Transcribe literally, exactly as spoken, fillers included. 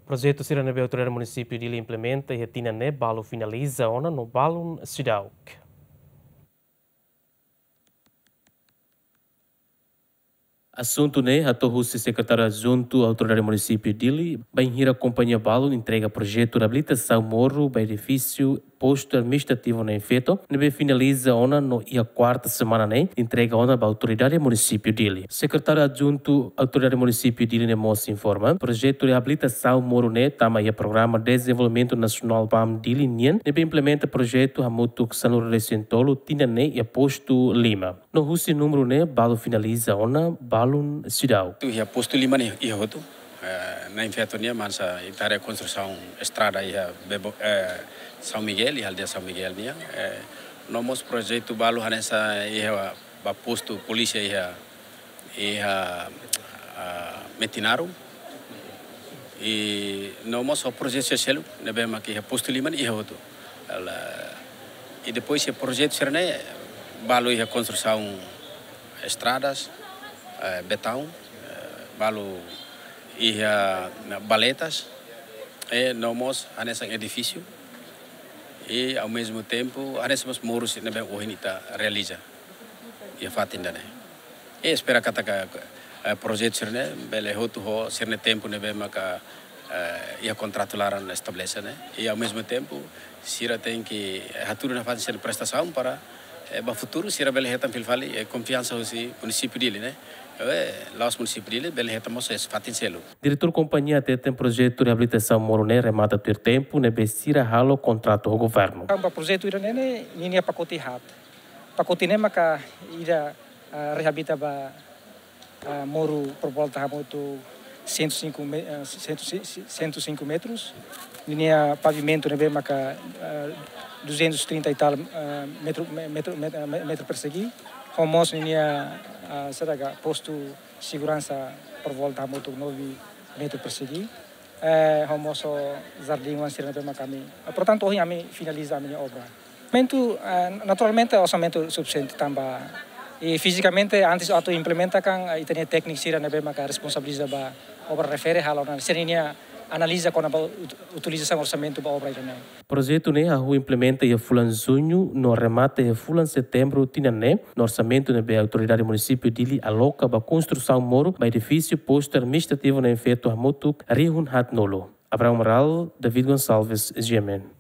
Projetu sira ne'ebé Autoridade Munisípiu Dili implementa iha tinan ne'e balu finaliza ona no balun seidauk. Asuntu ne'e hato'o husi Sekretáriu Adjuntu Autoridade Munisípiu Dili, bainhira kompañia balun entrega projetu reabilitasaun moru ba edifísiu Postu Administrativu Na'in Feto, ne'ebé finaliza ona no iha kuarta semana ne'e entrega ona ba Autoridade Munisípiu Dili. Sekretáriu Adjuntu Autoridade Munisípiu Dili ne'e mós informa, projetu reabilitasaun moru ne'e tama iha Programa Dezenvolvimentu Nasionál PAM Dili nian, ne'ebé implementa projetu hamutuk sanulu-resin-tolu tinan ne'e iha Postu Lima. No husi númeru ne'e balu finaliza ona balun seidauk. Atu iha Postu Lima ne'e iha hotu. Eh, Na'in Feto nian hanesan ita haree konstrusaun estrada iha Bebo, eh, São Miguel, iha aldeia São Miguel nian. Eh, no mós projetu balu hanesan iha ba postu polísia iha, iha, ah, Metinaro. I no mós ho projetu sira seluk ne'ebé mak iha Postu Lima ne'e iha hotu. Ela, i depois iha projetu sira ne'e balu iha konstrusaun estradas, eh, betaun, eh, balu iha valetas, i no mós hanesan edifísiu, i ao mesmo tempo hanesan mós moru sira ne'ebé ohin ita realiza iha fatin ida-ne'e. I espera katak, eh, projetu sira-ne'e bele hotu ho sira-nia tempu ne'ebé maka, eh, iha kontratu laran estabelese ne'e. I ao mesmo tempo sira tenke, eh, hatudu nafatin sira-nia prestasaun para, eh, ba futuru sira bele hetan fila fali, eh, konfiansa husi munisípiu Dili ne'e. Eh, la'ós munisípiu Dili, bele hetan mós iha fatin seluk. Diretór kompañia hateten projetu reabilitasaun moru ne'e remata tuir tempu ne'ebé sira halo kontratu ho governu. Tanba projetu ida-ne'e ninia pakote haat. Pakote ne'e maka ida, ah, reabilita ba, ah, moru por volta hamutuk cento e cinco me-, ah, cento, cento e cinco metros. Ninia pavimentu ne'ebé maka, ah, duzentos e trinta e tal, ah, metro, me-, metro, met-, ah, me-, metro persegi. Ho mós ninia, ah, saida ka, postu seguransa por volta hamutuk nove metro persegi. Eh, ho mós ho jardín oan sira ne'ebé maka ami. Portantu, ohin ami finaliza ami-nia obra. Orsamentu, eh, naturalmente orsamentu sufisiente tanba. I fizikamente antes atu implementa kan, eh, ita-nia tékniku sira ne'ebé maka responsabiliza ba obra refere halo ona sira-nia analiza kona-ba ut-, utilizasaun orsamentu ba obra ida-ne'e. Projetu ne'e hahú implementa iha fulan Juñu no remata iha fulan Setembru tinan ne'e, no orsamentu ne'ebé Autoridade Munisípiu Dili aloka ba konstrusaun moru ba edifísiu Postu Administrativu Na'in Feto hamutuk rihun haatnulu. Abrão Amaral, David Gonçalves, G M N.